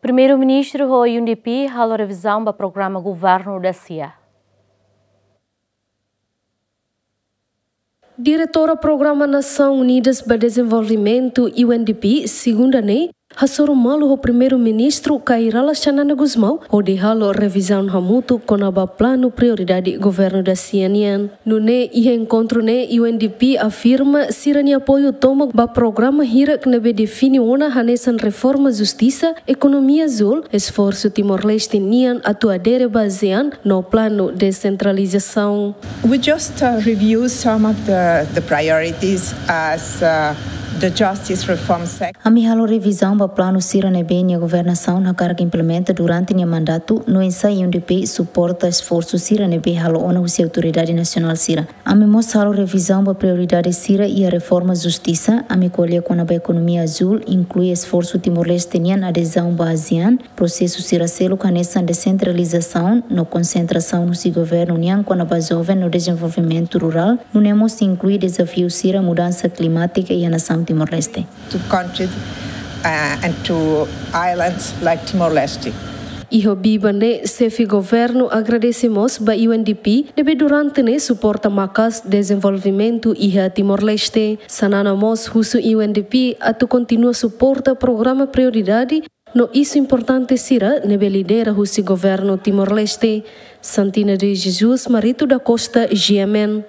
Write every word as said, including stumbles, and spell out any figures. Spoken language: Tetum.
Primeiru-Ministru ho U N D P halo revizaun ba programa governu dasia. Diretora Programa Nasaun Unidas ba Dezenvolvimentu, U N D P, segunda ne'e hasoru malu ho Primeiru-Ministru Kay Rala Xanana Gusmão hodi halo revizaun hamutuk kona-ba planu prioridade governu dasia nian. Nune'e iha enkontru ne'e U N D P afirma sira-nia apoiu tomak ba programa hirak ne'ebé define ona hanesan reforma justisa, ekonomia azul, esforsu Timor-Leste nian atu adere ba ASEAN no planu desentralizasaun. We just uh, review some of the, the priorities as uh, the justice reform sector. Ami halo revizaun ba planu sira ne'ebé nia governasaun hakarak implementa durante nia mandatu, no oinsá U N D P suporta esforsu sira ne'ebé halo ona husi autoridade nasionál sira. Ami mós halo revizaun ba prioridade sira iha reforma justisa, ami ko'alia kona-ba ekonomia azul, inklui esforsu Timor-Leste nian adezaun ba ASEAN, prosesu sira seluk hanesan desentralizasaun no konsentrasaun husi governu nian kona-ba joven no dezenvolvimentu rurál, nune'e mós inklui dezafiu sira mudansa klimátika iha nasaun Timor-Leste. To countries uh, and to islands like Timor-Leste. Iha biban ne'e, xefe governu agradese mós ba U N D P ne'ebé durante ne'e suporta maka'as dezenvolvimentu iha Timor-Leste. Xanana mós husu U N D P atu kontinua suporta programa prioridade no isu importante sira ne'ebé lidera husi governu Timor-Leste. Santina de Jesus, Marito da Costa, G M N.